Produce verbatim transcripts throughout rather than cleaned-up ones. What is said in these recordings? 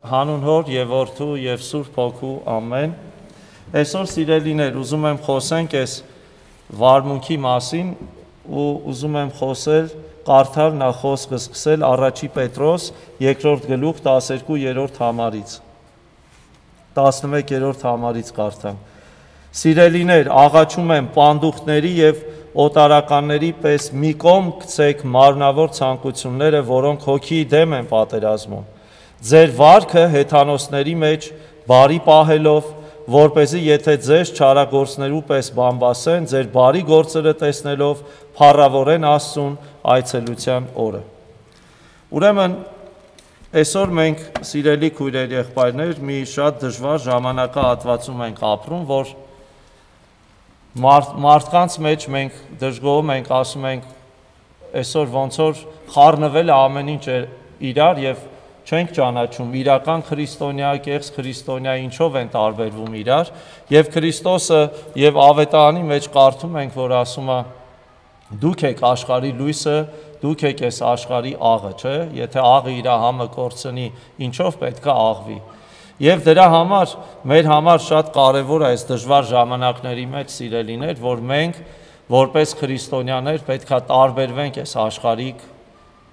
Հանուն Հոր եւ Որդու եւ Սուրբ Հոգու ամեն։ Այսօր սիրելիներ, ուզում եմ խոսենք այս վարմունքի մասին ու ուզում եմ խոսել, կարդալ նախ խոսքը սկսել առաջի Պետրոս երկրորդ գլուխ տասներկու-երրորդ համարից։ տասնմեկերորդ համարից կարդամ։ Սիրելիներ, աղաչում եմ պանդուխտների եւ օտարականների պես մի կողմ գցեք մարմնավոր ցանկությունները, որոնք հոգի դեմ են պատերազմում։ Ձեր վարքը հեթանոսների մեջ բարի պահելով, որպեսզի եթե ձեզ չարագործներու պես բամբասեն, ձեր բարի գործերը տեսնելով փառավորեն Աստծուն այցելության օրը։ Ուրեմն այսօր մենք սիրելի քույրեր եղբայրներ մի շատ դժվար ժամանակահատվածում ենք ապրում, որ մարդ, մարդկանց մեջ մենք դժգոհում ենք, ասում ենք այսօր ոնց որ խառնվել է ամեն ինչ իրար եւ չենք ճանաչում իրական քրիստոնյա, կեղծ քրիստոնյա ինչով են տարբերվում իրար, եւ Քրիստոսը եւ Ավետարանի մեջ կարդում ենք, որ ասում է դուք եք աշխարհի լույսը, դուք եք այս աշխարհի աղը, չէ՞, եթե աղը իր համը կորցնի, ինչով պետք է աղվի։ Եվ դրա համար մեր համար շատ կարևոր է այս դժվար ժամանակների մեջ սիրելիներ, որ մենք որպես քրիստոնյաներ պետք է տարբերվենք այս աշխարհիկ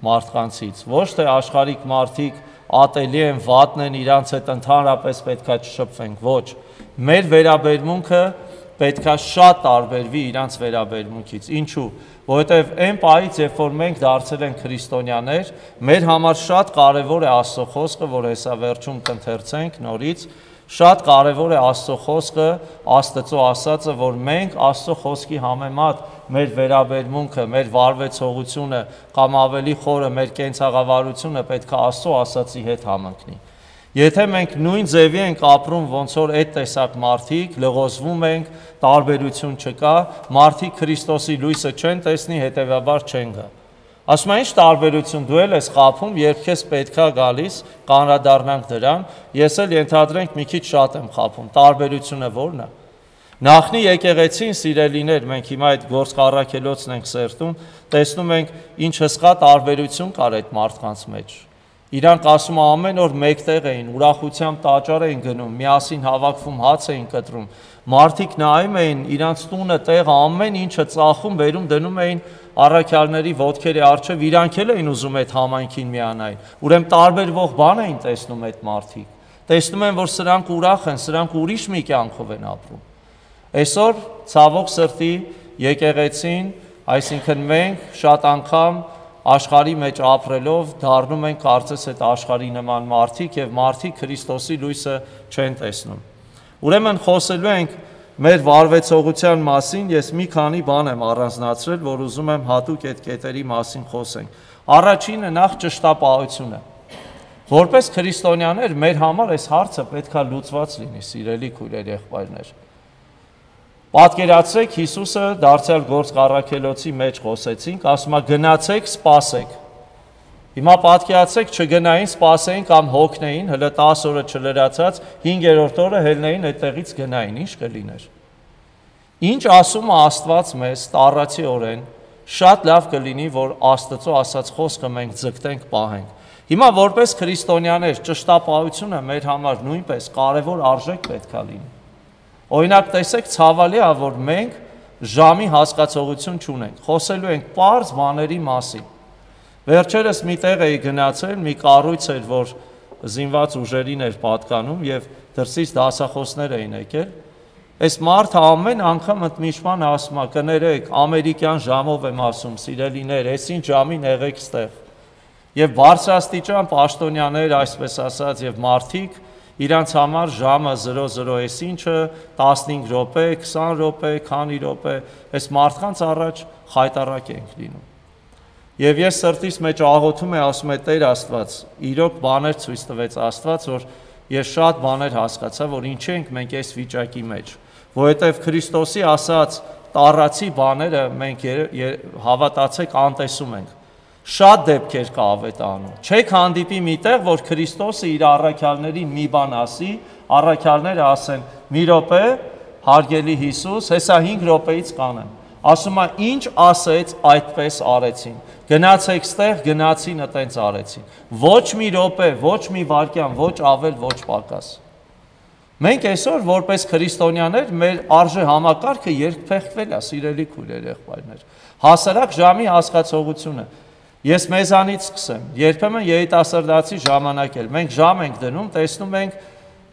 մարդկանցից, ոչ թե աշխարհիկ մարդիկ ատելի են, վատն են, իրանց հետ ընդհանրապես պետք է չշփվենք, ոչ։ Մեր վերաբերմունքը պետք է շատ տարբերվի իրանց վերաբերմունքից։ Ինչու՞։ Որովհետև այն պահից, երբ որ մենք դարձել ենք քրիստոնյաներ, մեր համար շատ կարևոր է Աստծո խոսքը, որ հեսա վերջում կընթերցենք նորից, շատ կարևոր է Աստծո խոսքը, Աստծո ասածը, որ մենք Աստծո խոսքի համեմատ մեր վերաբերմունքը, մեր վարվեցողությունը կամ ավելի խորը մեր կենցաղավարությունը պետք է Աստծո ասածի հետ համընկնի։ Եթե մենք նույն ձևի ենք ապրում, ոնց որ այդ տեսակ մարդիկ, լղոզվում ենք, տարբերություն չկա, մարդիկ Քրիստոսի լույսը չեն տեսնի, հետևաբար չեն գա։ Ասում են, ինչ տարբերություն դու էլ ես խաբում, երբ քեզ պետքա գալիս, կանրադառնանք դրան, ես էլ ենթադրենք մի քիչ շատ եմ խաբում, տարբերությունը ո՞րն է։ Նախնի եկեղեցին սիրելիներ, մենք հիմա այդ գործ առաքելոցն ենք սերտում, տեսնում ենք ինչ հսկա տարբերություն կար այդ մարդկանց մեջ։ Իրանք ասում ամեն օր մեկտեղ էին, ուրախությամբ տաճար էին գնում, միասին հավաքվում հաց էին կտրում, մարդիկ նայում էին, իրանց տունը, տեղը, ամեն ինչը ծախում, բերում դնում էին առաքյալների ոտքերի առջև, իրանք էլ էին ուզում այդ համայնքին միանային, ուրեմն տարբերվող բան էին տեսնում այդ մարդիկ, տեսնում են, որ սրանք ուրախ են, սրանք ուրիշ մի կյանքով են ապրում։ Այսօր ցավոք սրտի եկեղեցին, այսինքն մենք շատ անգամ աշխարհի մեջ ապրելով դառնում ենք կարծես այդ աշխարհի նման մարդիկ եւ մարդիկ Քրիստոսի լույսը չեն տեսնում։ Ուրեմն խոսելու ենք մեր վարվեցողության մասին, ես մի քանի բան եմ առանձնացրել, որ ուզում եմ հատուկ այդ կետերի մասին խոսենք։ Առաջինը նախ ճշտապահությունը։ Որպես քրիստոնյաներ մեր համար այս հարցը պետքա լուծված լինի, սիրելի քույրեր եղբայրներ։ Պատկերացրեք Հիսուսը դարձյալ գործ առաքելոցի մեջ խոսեցինք, ասում է գնացեք, սպասեք։ Հիմա պատկերացրեք չգնային, սպասեին կամ հոգնեին, հələ տասը օրը չլրացած, հինգերորդ օրը հելնեին այդտեղից գնային, ինչ կլիներ։ Ինչ ասում է Աստված մեզ տառացիորեն, շատ լավ կլինի, որ Աստծո ասած խոսքը մենք ձգտենք, պահենք։ Հիմա որպես քրիստոնյաներ ճշտապահությունը մեր համար նույնպես կարևոր արժեք պետք է լինի։ Օրինակ տեսեք ցավալի է, որ մենք ժամի հասկացողություն չունենք, խոսելու ենք պարզ բաների մասին։ Վերջերս մի տեղ էի գնացել, մի կառույց էր, որ զինված ուժերին էր պատկանում եւ դրսից դասախոսներ էին եկել։ Այս մարդը ամեն անգամ ընդմիջման ասում է, կներեք, ամերիկյան ժամով եմ ասում, սիրելիներ, այս ինչ ժամին եղեք ստեղ։ Եվ բարձրաստիճան պաշտոնյաներ, այսպես ասած, եւ մարդիկ իրանց համար ժամը զրո զրո էս ինչը տասնհինգ րոպե, քսան րոպե, քանի րոպե, այս մարդկանց առաջ խայտարակ ենք լինում։ Եվ ես սրտիս մեջ աղոթում եմ, ասում եմ Տեր Աստված, իրոք բաներ ցույց տվեց Աստված, որ ես շատ բաներ հասկացա, որ ինչ ենք մենք այս վիճակի մեջ, որովհետև Քրիստոսի ասած տառացի բաները մենք հավատացեք անտեսում ենք։ Շատ դեպքեր կա Ավետարանում։ Չեք հանդիպի միտեղ, որ Քրիստոսը իր առաքյալներին մի բան ասի, առաքյալները ասեն՝ մի րոպե, հարգելի Հիսուս, հեսա հինգ րոպեից կանեմ։ Ասում է ինչ ասեց, այդպես արեցին։ Գնացեք ստեղ, գնացին, այտենց արեցին։ Ոչ մի րոպե, ոչ մի վայրկյան, ոչ ավել, ոչ պակաս։ Մենք այսօր որպես քրիստոնյաներ մեր արժե համակարգը երկփեղկվել է, սիրելի քույրեր, եղբայրներ։ Հասարակ ժամի հասկացողությունը։ Ես մեզանից սկսեմ, երբեմն երիտասարդացի ժամանակ էլ մենք ժամ ենք դնում, տեսնում ենք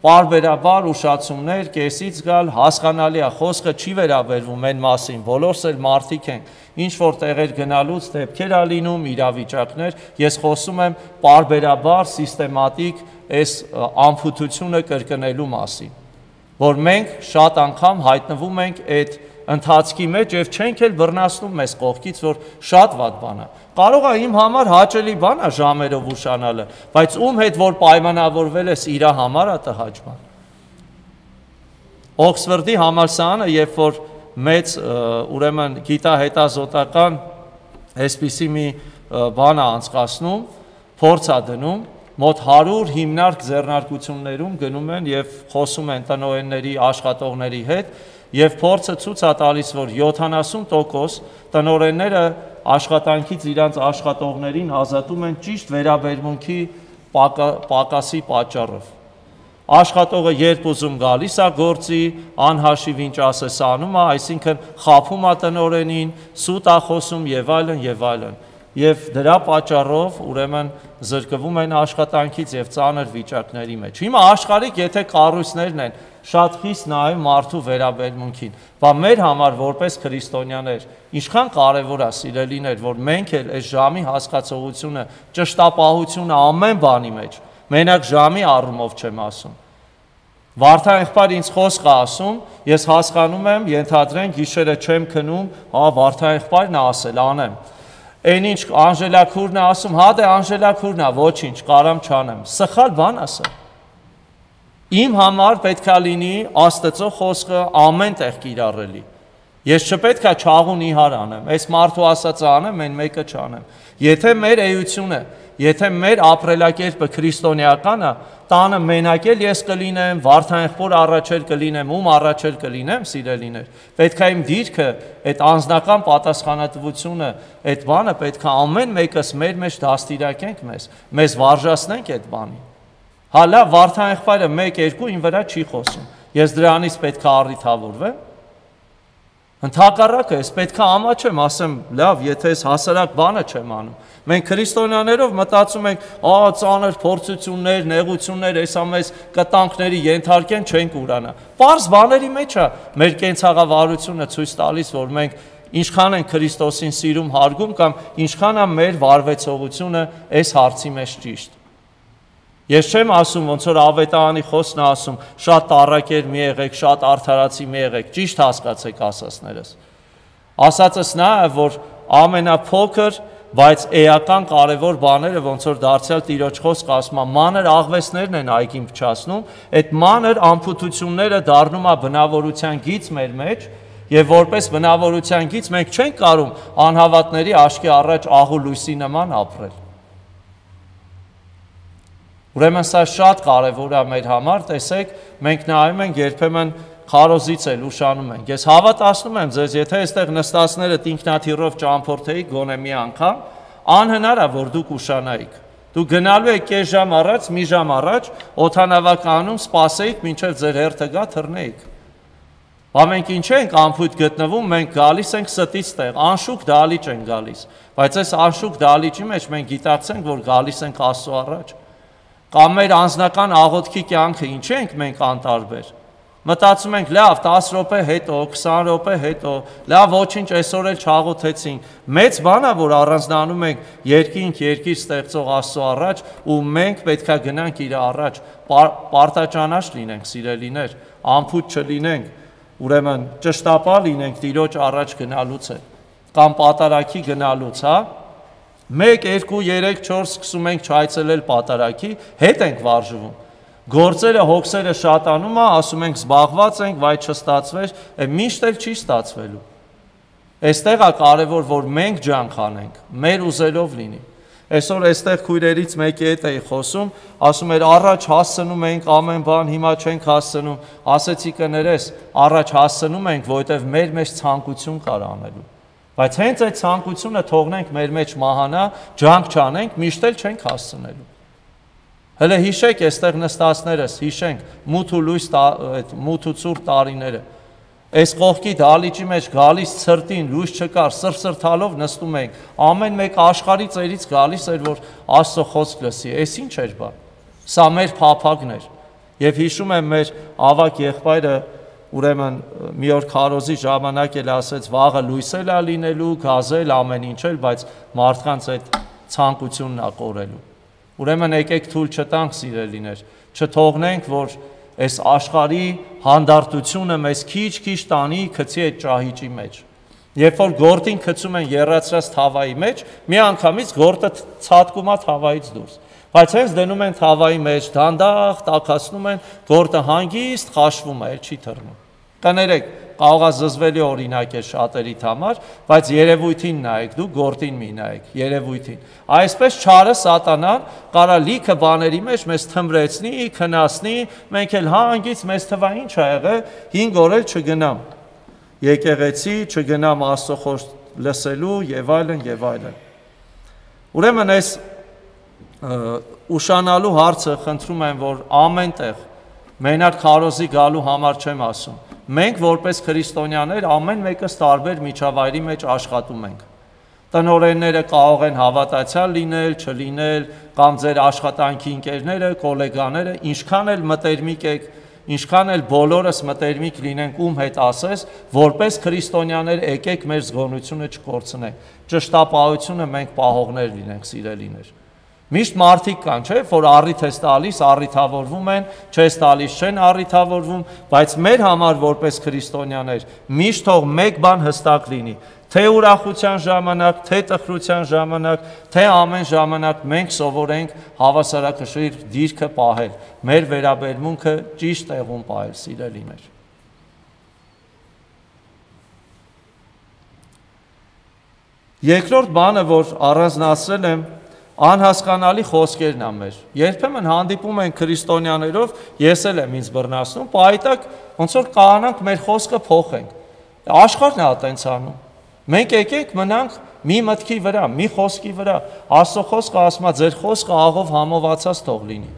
պարբերաբար ուշացումներ, կեսից գալ, հասկանալի է, խոսքը չի վերաբերվում այն մասին, բոլորս էլ մարդիկ ենք, ինչ որ տեղեր գնալուց դեպքեր ա լինում, իրավիճակներ, ես խոսում եմ պարբերաբար, սիստեմատիկ այս անփութությունը կրկնելու մասին, որ մենք շատ անգամ հայտնվում ենք այդ ընթացքի մեջ եւ չենք էլ բռնացնում մեզ կողքից, որ շատ վատ բան է։ Կարող է իմ համար հաճելի բան է ժամերով ուշանալը, բայց ում հետ որ պայմանավորվել ես իր համար է տհաճ բան։ Օքսֆորդի համալսարանը, երբ որ մեծ ուրեմն գիտահետազոտական այսպիսի մի բան է անցկացնում, փորձ է դնում, մոտ հարյուր հիմնարկ ձեռնարկություններում գնում են եւ խոսում են տնօրենների, աշխատողների հետ, եւ փորձը ցույց է տալիս, որ յոթանասուն տոկոս տնօրենները աշխատանքից իրանց աշխատողներին ազատում են ճիշտ վերաբերմունքի պակասի պատճառով։ Աշխատողը երբ ուզում գալիս է գործի, անհաշիվ ինչ ասես անում է, այսինքն խաբում է տնօրենին, սուտ է խոսում եւ այլն եւ այլն։ Եվ դրա պատճառով ուրեմն զրկվում են աշխատանքից եւ ծանր վիճակների մեջ։ Հիմա աշխարհիկ եթե կառույցներն են շատ խիստ նայում մարդու վերաբերմունքին, բա մեր համար որպես քրիստոնյաներ ինչքան կարևոր է, սիրելիներ, որ մենք էլ այս ժամի հասկացողությունը, ճշտապահությունը ամեն բանի մեջ, մենակ ժամի առումով չեմ ասում։ Վարդան եղբայր ինձ խոսք է ասում, ես հասկանում եմ, ենթադրենք գիշերը չեմ քնում, հա Վարդան եղբայրն է ասել, անեմ։ Այն ինչ Անժելա քուրն է ասում, հա դե Անժելա քուրն է, ոչինչ, կարամ չանեմ։ Սխալ բան է սա։ Իմ համար պետք է լինի Աստծո խոսքը ամեն տեղ կիրառելի։ Ես չպետք է չաղուն իհար անեմ, այս մարդու ասածը անեմ, այն մեկը չանեմ։ Եթե մեր էությունը, եթե մեր ապրելակերպը քրիստոնեական է, տանը մենակ էլ ես կլինեմ, Վարդան եղբոր առաջ էլ կլինեմ, ում առաջ էլ կլինեմ, սիրելիներ։ Պետք է իմ դիրքը, այդ անձնական պատասխանատվությունը, այդ բանը պետք է ամեն մեկս մեր մեջ դաստիարակենք մեզ, մեզ վարժացնենք այդ բանին։ Հա լավ, Վարդան եղբայրը մեկ երկու ին վրա չի խոսում։ Ես դրանից պետք է առիթավորվեմ։ Ընդհակառակը, ես պետք է ամաչեմ, ասեմ, լավ, եթե ես հասարակ բանը չեմ անում։ Մենք քրիստոնյաներով մտածում ենք, ա ծանր փորձություններ, նեղություններ, հեսա մեզ կտանքների ենթարկեն չենք ուրանա։ Պարզ բաների մեջ է մեր կենցաղավարությունը ցույց տալիս, որ մենք ինչքան են Քրիստոսին սիրում, հարգում կամ ինչքան է մեր վարվեցողությունը այս հարցի մեջ ճիշտ։ Ես չեմ ասում, ոնց որ ավետարանի խոսքն է ասում, շատ տառակեր մի եղեք, շատ արդարացի մի եղեք, ճիշտ հասկացեք ասածներս։ Ասածս նա է, որ ամենափոքր, բայց էական կարևոր բաները, ոնց որ դարձյալ Տիրոջ խոսքը ասում է, մանր աղվեսներն են այգին փչացնում, այդ մանր անփութությունները դառնում է բնավորության գիծ մեր մեջ, եւ որպես բնավորության գիծ մենք չենք կարող անհավատների աչքի առաջ աղու լույսի նման ապրել։ Ուրեմն սա շատ կարևոր է մեր համար, տեսեք, մենք նայում ենք երբեմն քարոզից էլ ուշանում ենք։ Ես հավատացնում եմ ձեզ, եթե այստեղ նստածներդ ինքնաթիռով ճամփորդեիք գոնե մի անգամ, անհնար է, որ դուք ուշանայիք։ Դուք գնալու եք կես ժամ առաջ, մի ժամ առաջ, օդանավականում սպասեիք, մինչև ձեր հերթը գա, թռնեիք։ Բա մենք ինչ ենք անփույթ գտնվում, մենք գալիս ենք ստից տեղ, անշուք դալիճ ենք գալիս, բայց այս անշուք դալիճի մեջ մենք գիտակցենք, որ գալիս ենք Աստծո առաջ։ Կամ մեր անձնական աղոթքի կյանքը ինչ ենք մենք անտարբեր։ Մտածում ենք, լավ, տասը րոպե հետո, քսան րոպե հետո, լավ, ոչինչ, այսօր էլ չաղոթեցինք։ Մեծ բան է, որ առանձնանում ենք երկինք, երկիր ստեղծող Աստծո առաջ, ու մենք պետք է գնանք իր առաջ, պարտաճանաչ լինենք, սիրելիներ, անփույթ չլինենք, ուրեմն ճշտապահ լինենք Տիրոջ առաջ գնալուց է, կամ պատարագի գնալուց, հա։ մեկ, երկու, երեք, չորս սկսում ենք չայցելել պատարագի, հետ ենք վարժվում։ Գործերը, հոգսերը շատանում է, ասում ենք զբաղված ենք, վայ չստացվեր, միշտ էլ չի ստացվելու։ Այստեղ է կարևոր, որ մենք ջանք անենք, մեր ուզելով լինի։ Այսօր այստեղ քույրերից մեկի հետ էի խոսում, ասում էր առաջ հասցնում ենք ամեն բան, հիմա չենք հասցնում, ասեցի կներես, առաջ հասցնում ենք, որովհետև մեր մեջ ցանկություն կար անելու։ Բայց հենց այդ ցանկությունը թողնենք մեր մեջ մահանա, ջանք չանենք, միշտ էլ չենք հասցնելու։ Հələ հիշեք այստեղ նստածներս, հիշենք մութ ու լույս այդ մութ ու ցուրտ տարիները։ Այս կողքի դալիճի մեջ գալիս ցրտին լույս չկար, սրսրթալով նստում ենք։ Ամեն մեկ աշխարհի ծերից գալիս էր, որ Աստծո խոսք լսի։ Էս ինչ էր բա։ Սա մեր փափագն էր։ Եվ հիշում եմ մեր ավակ եղբայրը, ուրեմն մի օր քարոզի ժամանակ էլ ասեց, վաղը լույս էլ է լինելու, գազել ամեն ինչ էլ, բայց մարդկանց այդ ցանկությունն է կորելու։ Ուրեմն եկեք թույլ չտանք, սիրելիներ, չթողնենք, որ այս աշխարհի հանդարտությունը մեզ քիչ-քիչ տանի գցի այդ ճահիճի մեջ։ Երբ որ գործին գցում են եռացրած թավայի մեջ, մի անգամից գործը ցածկում է թավայից դուրս։ Բայց հենց դնում են թավայի մեջ, դանդաղ տաքացնում են, գործը հանգիստ խաշվում է, չի թռնում։ Կներեք, կարող է զզվելի օրինակ է շատերիդ համար, բայց երևույթին նայեք, դու գործին մի նայեք, երևույթին։ Այսպես չարը սատանան կարա լիքը բաների մեջ մեզ թմրեցնի, քնասնի, մենք էլ հանգից մեզ թվա ինչ ա եղել, հինգ օր էլ չգնամ եկեղեցի, չգնամ Աստծո խոսք լսելու եւ այլն եւ այլն։ Ուրեմն այս ուշանալու հարցը խնդրում եմ, որ ամեն տեղ մենակ քարոզի գալու համար չեմ ասում։ Մենք որպես քրիստոնյաներ ամեն մեկս տարբեր միջավայրի մեջ աշխատում ենք։ Տնօրենները կարող են հավատացյալ լինել, չլինել, կամ ձեր աշխատանքի ընկերները, գոլեգաները, ինչքան էլ մտերմիկ եք, ինչքան էլ բոլորս մտերմիկ լինենք, ում հետ ասես, որպես քրիստոնյաներ եկեք մեր զգոնությունը չկորցնենք։ Ճշտապահությունը մենք պահողներ լինենք, սիրելիներ։ Միշտ մարդիկ կան, չէ՞, որ առիթ ես տալիս, առիթավորվում են, չես տալիս, չեն առիթավորվում, բայց մեր համար որպես քրիստոնյաներ միշտ թող մեկ բան հստակ լինի, թե ուրախության ժամանակ, թե տխրության ժամանակ, թե ամեն ժամանակ մենք սովորենք հավասարակշիռ դիրքը պահել, մեր վերաբերմունքը ճիշտ տեղում պահել, սիրելիներ։ Երկրորդ բանը, որ առանձնացրել եմ, անհասկանալի խոսքերն ա մեր։ Երբեմն հանդիպում են քրիստոնյաներով, ես էլ եմ ինձ բռնացնում, պայտակ ոնց որ կանանք մեր խոսքը փոխենք։ Աշխարհն է այտենց անում։ Մենք եկենք մնանք մի մտքի վրա, մի խոսքի վրա։ Աստծո խոսքը ասում է, ձեր խոսքը աղով համովածած թող լինի։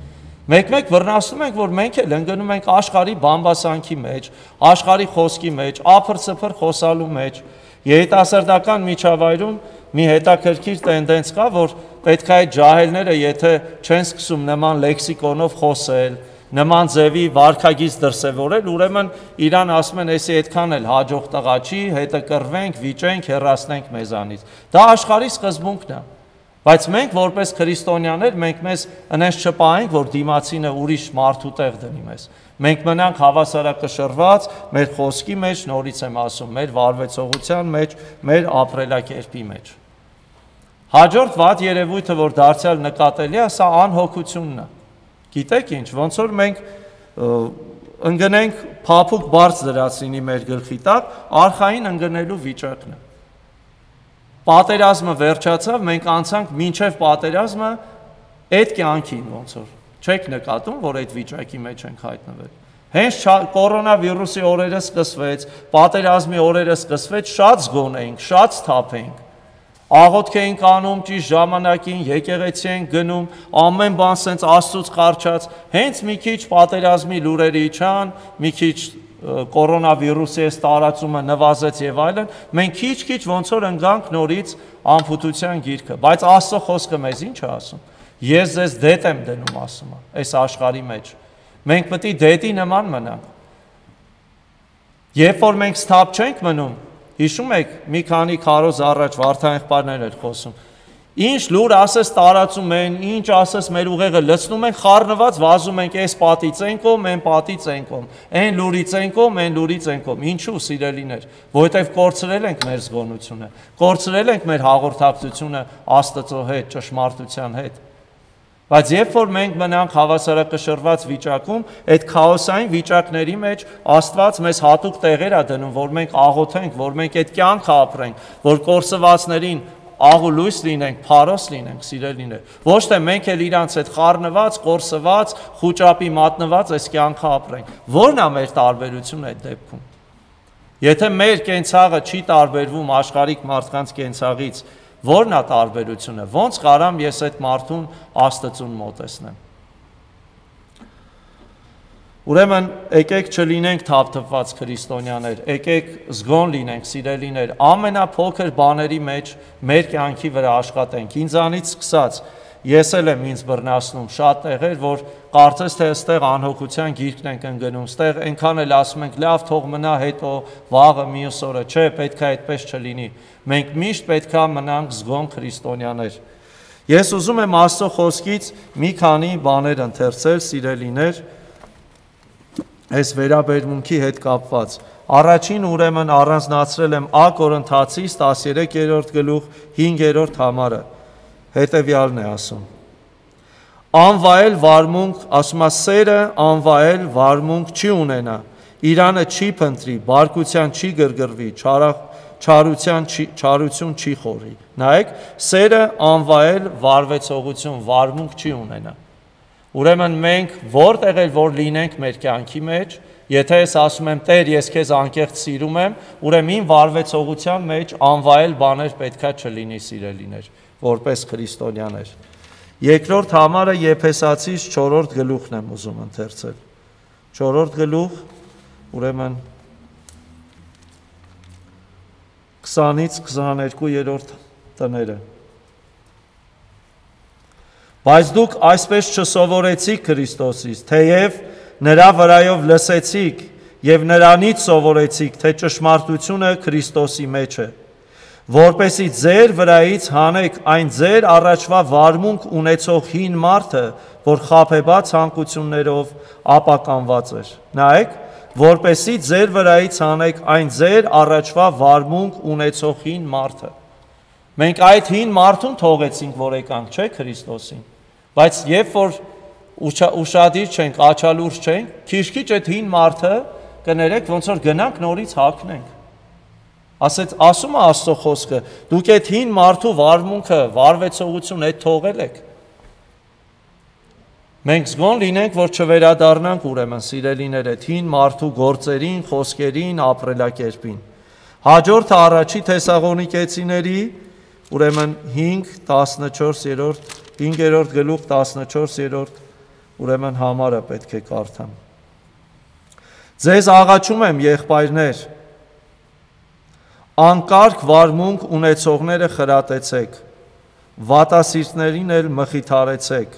Մեկ-մեկ բռնացնում ենք, որ մենք էլ ընկնում ենք աշխարհի բամբասանքի մեջ, աշխարհի խոսքի մեջ, ափր-ծփր խոսալու մեջ։ Երիտասարդական միջավայրում մի հետաքրքիր տենդենց կա, որ պետք է այդ ջահելները, եթե չեն սկսում նման լեքսիկոնով խոսել, նման ձևի վարքագիծ դրսևորել, ուրեմն իրան ասում են, էսի այդքան էլ հաջող տղա չի, հետը կռվենք, վիճենք, հեռացնենք մեզանից։ Դա աշխարհի սկզբունքն է։ Բայց մենք որպես քրիստոնյաներ, մենք մեզ այնպես չպահենք, որ դիմացինը ուրիշ մարդու տեղ դնի մեզ։ Մենք մնանք հավասարակշռված մեր խոսքի մեջ, նորից եմ ասում, մեր վարվեցողության մեջ, մեր ապրելակերպի մեջ։ Հաջորդ վատ երևույթը, որ դարձյալ նկատելի է, սա անհոգությունն է։ Գիտեք ինչ, ոնց որ մենք ընկնենք փափուկ բարձ դրածինի մեր գլխի տակ, արխային ընկնելու վիճակն է։ Պատերազմը վերջացավ, մենք անցանք մինչև պատերազմը այդ կյանքին ոնց որ չեք նկատում, որ այդ վիճակի մեջ ենք հայտնվել։ Հենց կորոնավիրուսի օրերը սկսվեց, պատերազմի օրերը սկսվեց, շատ զգոն էինք, շատ սթափ էինք։ Աղոթք էինք անում ճիշտ ժամանակին, եկեղեցի ենք գնում, ամեն բան սենց Աստծուց կարճած, հենց մի քիչ պատերազմի լուրերը իջան, մի քիչ կորոնավիրուսի այս տարածումը նվազեց եւ այլն, մենք քիչ-քիչ ոնց որ ընկանք նորից անփութության գիրկը, բայց Աստծո խոսքը մեզ ինչ է ասում։ Ես ձեզ դետ եմ դնում, ասում է, այս աշխարհի մեջ։ Մենք պետք է դետի նման մնանք։ Երբ որ մենք սթափ չենք մնում, հիշում եք, մի քանի քարոզ առաջ Վարդան եղբայրներն էր խոսում։ Ինչ լուր ասես տարածում են, ինչ ասես մեր ուղեղը լցնում են, խառնված վազում ենք, այս պատից են կողմ, այն պատից են կողմ, այն լուրից են կողմ, այն լուրից են կողմ։ Ինչու, սիրելիներ, որովհետև կորցրել ենք մեր զգոնությունը, կորցրել ենք մեր հաղորդակցությունը Աստծո հետ, ճշմարտության հետ։ Բայց երբ որ մենք մնանք հավասարակշռված վիճակում, այդ քաոսային վիճակների մեջ Աստված մեզ հատուկ տեղեր է դնում, որ մենք աղոթենք, որ մենք այդ կյանքը ապրենք, որ կորսվածներին աղուլույս լինենք, փարոս լինենք, սիրելիներ։ Ոչ թե մենք էլ իրանց հետ խառնված, կորսված, խուճապի մատնված այս կյանքը ապրենք։ Որն է մեր տարբերությունը այդ դեպքում։ Եթե մեր կենցաղը չի տարբերվում աշխարհիկ մարդկանց կենցաղից, որն է տարբերությունը։ Ոնց կարամ ես այդ մարդուն Աստծուն մոտեցնեմ։ Ուրեմն եկեք չլինենք թափթփված քրիստոնյաներ, եկեք զգոն լինենք, սիրելիներ, ամենափոքր բաների մեջ մեր կյանքի վրա աշխատենք։ Ինձանից սկսած, ես էլ եմ ինձ բռնացնում շատ տեղեր, որ կարծես թե այստեղ անհոգության գիրկն ենք ընկնում, այստեղ այնքան էլ ասում ենք, լավ, թող մնա, հետո վաղը մյուս օրը, չէ, պետք է այդպես չլինի։ Մենք միշտ պետք է մնանք զգոն քրիստոնյաներ։ Ես ուզում եմ Աստծո խոսքից մի քանի բաներ ընթերցել, սիրելիներ, այս վերաբերմունքի հետ կապված։ Առաջին ուրեմն առանձնացրել եմ Ա Կորինթացիս տասներեքերորդ գլուխ հինգերորդ համարը։ Հետևյալն է ասում. Անվայել վարմունք, ասում է սերը անվայել վարմունք չի ունենա, իրանը չի փնտրի, բարկության չի գրգռվի, չարության չի, չարություն չի խորի։ Նայեք, սերը անվայել վարվեցողություն, վարմունք չի ունենա։ Ուրեմն մենք որտեղ էլ որ լինենք մեր կյանքի մեջ, եթե ես ասում եմ Տեր, ես քեզ անկեղծ սիրում եմ, ուրեմն իմ վարվեցողության մեջ անվայել բաներ պետքա չլինի, սիրելիներ, որպես քրիստոնյաներ։ Երկրորդ համարը Եփեսացիս չորրորդ գլուխն եմ ուզում ընթերցել։ չորրորդ գլուխ, ուրեմն քսանից քսաներկուերորդ տները։ Բայց դուք այսպես չսովորեցիք Քրիստոսից, թեև նրա վրայով լսեցիք եւ նրանից սովորեցիք, թե ճշմարտությունը Քրիստոսի մեջ է, որպեսզի ձեր վրայից հանեք այն ձեր առաջվա վարմունք ունեցող հին մարդը, որ խաբեբաց ցանկություններով ապականված էր։ Նայեք, որպեսզի ձեր վրայից հանեք այն ձեր առաջվա վարմունք ունեցող հին մարդը։ Մենք այդ հին մարդուն թողեցինք, որ եկանք, չէ՞ Քրիստոսին։ Բայց երբ որ ուշադիր չենք, աչալուրջ չենք, քիչ-քիչ այդ հին մարդը կներեք, ոնց որ գնանք նորից հագնենք։ Ասեց, ասում է Աստծո խոսքը, դուք այդ հին մարդու վարմունքը, վարվեցողություն այդ թողել եք։ Մենք զգոն լինենք, որ չվերադառնանք ուրեմն սիրելիներ այդ հին մարդու գործերին, խոսքերին, ապրելակերպին։ Հաջորդը առաջի Թեսաղոնիկեցիների, ուրեմն հինգ տասնչորսերորդ հինգերորդ գլուխ տասնչորսերորդ ուրեմն համարը պետք է կարդամ։ Ձեզ աղաչում եմ, եղբայրներ, անկարգ վարմունք ունեցողները խրատեցեք, վատասիրտներին էլ մխիթարեցեք,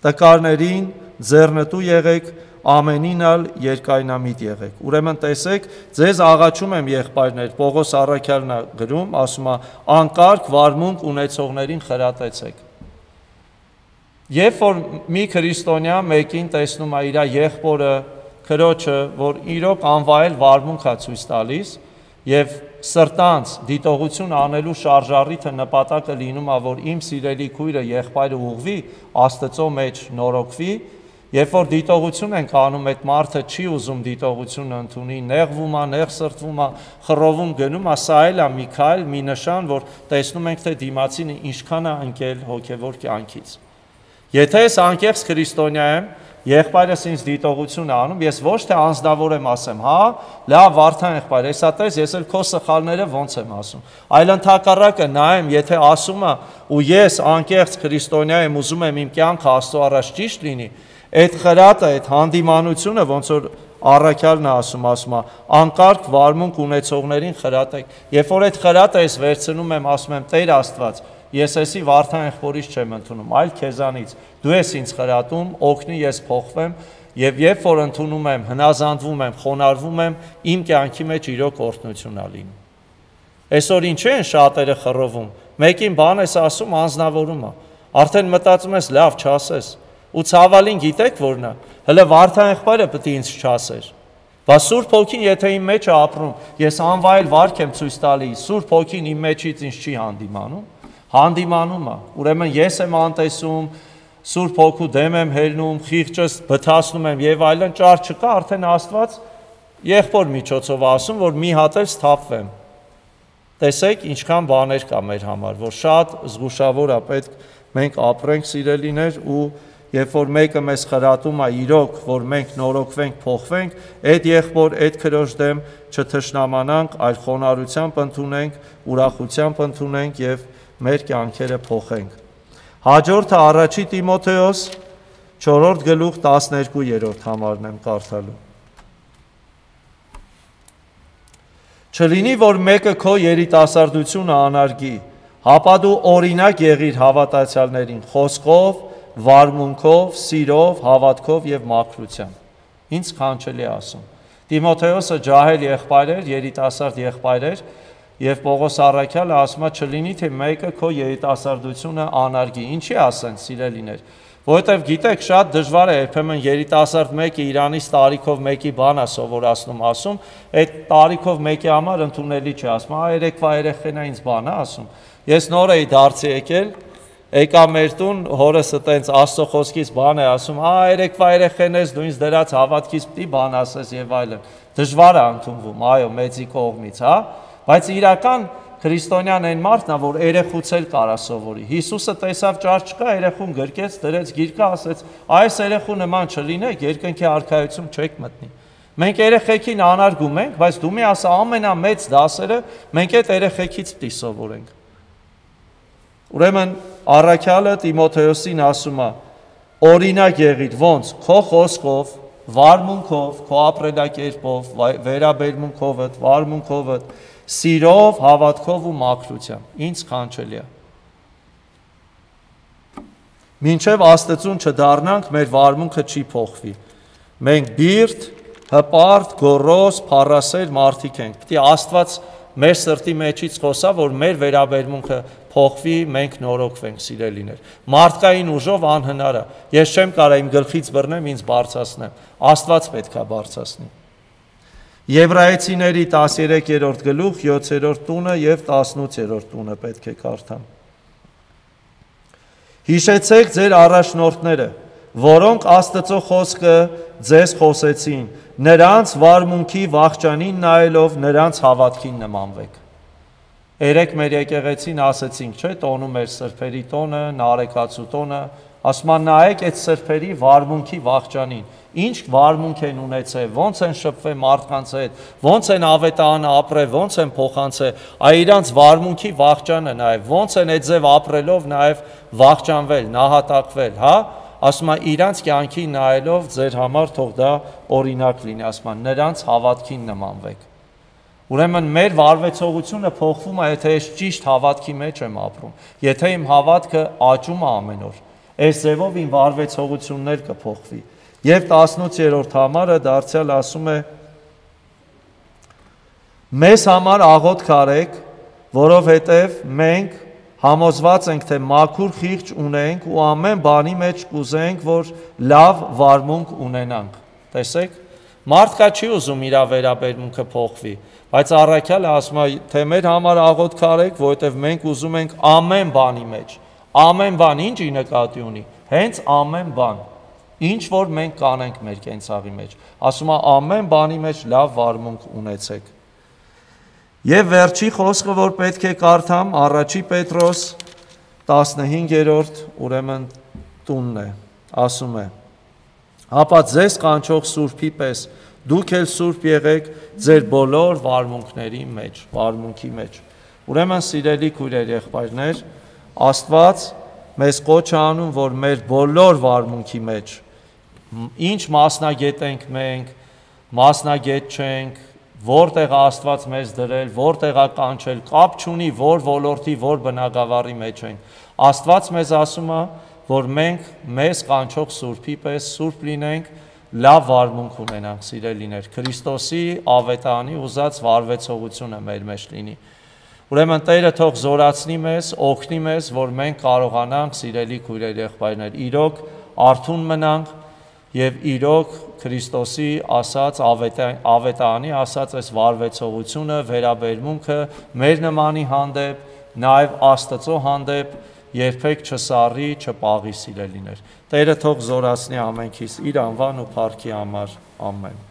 տկարներին ձեռնտու եղեք, ամենին ալ երկայնամիտ եղեք։ Ուրեմն տեսեք, ձեզ աղաչում եմ, եղբայրներ, Պողոս առաքյալն է գրում, ասում է, անկարգ վարմունք ունեցողներին խրատեցեք։ Երբ որ մի քրիստոնյա մեկին տեսնում է իր եղբորը, քրոջը, որ իրոք անվայել վարմունք է ցույց տալիս, եւ սրտանց դիտողություն անելու շարժառիթը նպատակը լինում է, որ իմ սիրելի քույրը եղբայրը ուղղվի, Աստծո մեջ նորոգվի, երբ որ դիտողություն ենք անում, այդ մարդը չի ուզում դիտողությունը ընդունի, նեղվում է, նեղսրտվում է, խռովում գնում է, սա էլ է մի քայլ, մի նշան, որ տեսնում ենք, թե դիմացին ինչքան է ընկել հոգևոր կյանքից։ Եթե ես անկեղծ քրիստոնյա եմ, եղբայրս ինձ դիտողություն է անում, ես ոչ թե անձնավոր եմ ասեմ, հա, լավ Վարդան եղբայր, հեսա տես, ես էլ քո սխալները ոնց եմ ասում, այլ ընդհակառակը նայեմ, եթե ասում է ու ես անկեղծ քրիստոնյա եմ, ուզում եմ իմ կյանքը Աստծո առաջ ճիշտ լինի, այդ խրատը, այդ հանդիմանությունը, ոնց որ առաքյալն է ասում, ասում է, անկարգ վարմունք ունեցողներին խրատեք, երբ որ այդ խրատը ես վերցնում եմ, ասում եմ, Տեր Աստված, ես էսի Վարդան եղբորից չեմ ընդունում, այլ քեզանից, դու ես ինձ խրատում, օգնի ես փոխվեմ, եւ երբ որ ընդունում եմ, հնազանդվում եմ, խոնարհվում եմ, իմ կյանքի մեջ իրոք օրհնություն ա լինում։ Այսօր ինչ են շատերը խռովում, մեկին բան ես ասում, անձնավորում է, արդեն մտածում ես, լավ չասես, ու ցավալին գիտեք որն է, հələ Վարդան եղբայրը պետք է ինձ չասեր։ Բա Սուրբ Հոգին եթե իմ մեջ է ապրում, ես անվայել վարք եմ ցույց տալի, Սուրբ Հոգին իմ մեջից ինձ չի հանդիմանում, հանդիմանում է, ուրեմն ես եմ անտեսում, Սուրբ Հոգու դեմ եմ հելնում, խիղճս բթացնում եմ եւ այլն, ճար չկա, արդեն Աստված եղբոր միջոցով ասում, որ մի հատ էլ սթափվեմ։ Տեսեք, ինչքան բաներ կա մեր համար, որ շատ զգուշավոր է պետք մենք ապրենք, սիրելիներ, ու երբ որ մեկը մեզ խրատում է իրոք, որ մենք նորոգվենք, փոխվենք, այդ եղբոր, այդ քրոջ դեմ չթշնամանանք, այլ խոնարհությամբ ընդունենք, ուրախությամբ ընդունենք եւ մեր կյանքերը փոխենք։ Հաջորդը առաջի Տիմոթեոս չորրորդ գլուխ տասներկու համարն եմ կարդալու։ Չլինի, որ մեկը քո երիտասարդությունը անարգի, հապա դու օրինակ եղիր հավատացյալներին խոսքով, վարմունքով, սիրով, հավատքով եւ մաքրությամբ։ Ինչ քանչելի է ասում։ Տիմոթեոսը ջահել եղբայր էր, երիտասարդ եղբայր էր, եւ Պողոս առաքյալը ասում է չլինի, թե մեկը քո երիտասարդությունը անարգի։ Ինչի ասեն, սիրելիներ, որովհետեւ գիտեք, շատ դժվար է երբեմն երիտասարդ մեկը Իրանից տարիքով մեկի բան է սովորացնում, ասում, այդ տարիքով մեկի համար ընդունելի չի, ասում, «Ա երեկվա երեխեն է ինձ բան է ասում»։ Ես նոր էի դարձի եկել, եկա մեր տուն, հորս տենց Աստծո խոսքից բան է ասում, «Ա երեկվա երեխեն ես, դու ինձ դրած հավատքից պիտի բան ասես եւ այլն»։ Դժվար է ընդունվում, այո, մեծի կողմից, հա, բայց իրական քրիստոնյան այն մարդն է, որ երեխուց էլ կարա սովորի։ Հիսուսը տեսավ ճար չկա, երեխուն գրկեց, դրեց գիրկը, ասեց, այս երեխու նման չլինեք, երկնքի արքայություն չեք մտնի։ Մենք երեխեքին անարգում ենք, բայց դու մի ասա ամենամեծ դասերը մենք այդ երեխեքից պիտի սովորենք։ Ուրեմն առաքյալը Տիմոթեոսին ասում է. օրինակ եղիր, ոնց քո խոսքով, վարմունքով, քո ապրելակերպով, վերաբերմունքովդ, վարմունքովդ, սիրով, հավատքով ու մաքրությամբ։ Ինչ քանչելի է։ Մինչև Աստծուն չդառնանք, մեր վարմունքը չի փոխվի։ Մենք բիրտ, հպարտ, գոռոզ, փառասեր մարդիկ ենք։ Պիտի Աստված մեր սրտի մեջից խոսա, որ մեր վերաբերմունքը փոխվի, մենք նորոգվենք, սիրելիներ։ Մարդկային ուժով անհնար է։ Ես չեմ կարող իմ գլխից բռնեմ, ինձ բարձրացնեմ։ Աստված պետք է բարձրացնի։ Եբրայեցիների տասներկերորդ գլուխ յոթերորդ տունը եւ տասնութերորդ տունը պետք է կարդամ։ Հիշեցեք ձեր առաջնորդները, որոնք Աստծո խոսքը ձեզ խոսեցին, նրանց վարմունքի վախճանին նայելով նրանց հավատքին նմանվեք։ Երեք մեր եկեղեցին ասեցինք, չէ, տոնում էր սրբերի տոնը, նարեկացու տոնը, ասում են նայեք այդ սրբերի վարմունքի վախճանին, ինչ վարմունք են ունեցել, ոնց են շփվել մարդկանց հետ, ոնց են ավետարանը ապրել, ոնց են փոխանցել, այ իրանց վարմունքի վախճանը նայեք, ոնց են այդ ձև ապրելով նաև վախճանվել, նահատակվել, հա, ասում են իրանց կյանքի նայելով ձեր համար թող դա օրինակ լինի, ասում են նրանց հավատքին նմանվեք։ Ուրեմն մեր վարվեցողությունը փոխվում է, եթե ես ճիշտ հավատքի մեջ եմ ապրում, եթե իմ հավատքը աճում է ամեն օր, այս ձևով իմ վարվեցողություններ կփոխվի։ Եվ տասնութերորդ համարը դարձյալ ասում է. մեզ համար աղոթք արեք, որովհետև մենք համոզված ենք, թե մաքուր խիղճ ունենք ու ամեն բանի մեջ կուզենք, որ լավ վարմունք ունենանք։ Տեսեք, մարդկա չի ուզում իր վերաբերմունքը փոխվի, բայց առաքյալը ասում է, թե մեր համար աղոթք արեք, որովհետև մենք ուզում ենք ամեն բանի մեջ, ամեն բան ինչի նկատի ունի, հենց ամեն բան, ինչ որ մենք կանենք մեր կենցաղի մեջ, ասում է ամեն բանի մեջ լավ վարմունք ունեցեք։ Եվ վերջի խոսքը, որ պետք է կարդամ, առաջի Պետրոս տասնհինգերորդ ուրեմն տունն է, ասում է. հապա ձեզ կանչող Սուրբի պես դուք էլ սուրբ եղեք ձեր բոլոր վարմունքների մեջ, վարմունքի մեջ։ Ուրեմն սիրելի քույրեր, եղբայրներ, Աստված մեզ կոչ է անում, որ մեր բոլոր վարմունքի մեջ, ինչ մասնագետ ենք մենք, մասնագետ չենք, որտեղ Աստված մեզ դրել, որտեղ է կանչել, կապ չունի, որ ոլորտի, որ բնագավառի մեջ ենք։ Աստված մեզ ասում է, որ մենք մեզ կանչող Սուրբի պես սուրբ լինենք, լավ վարմունք ունենանք, սիրելիներ, Քրիստոսի ավետարանի ուզած վարվեցողությունը մեր մեջ լինի։ Ուրեմն Տերը թող զորացնի մեզ, օգնի մեզ, որ մենք կարողանանք, սիրելի քույրեր, եղբայրներ, իրոք արթուն մնանք եւ իրոք Քրիստոսի ասած ավետարանի ասած այս վարվեցողությունը, վերաբերմունքը մեր նմանի հանդեպ, նաեւ Աստծո հանդեպ երբեք չսառի, չպաղի, սիրելիներ։ Տերը թող զորացնի ամենքիս իր անվան ու փառքի համար։ Ամեն։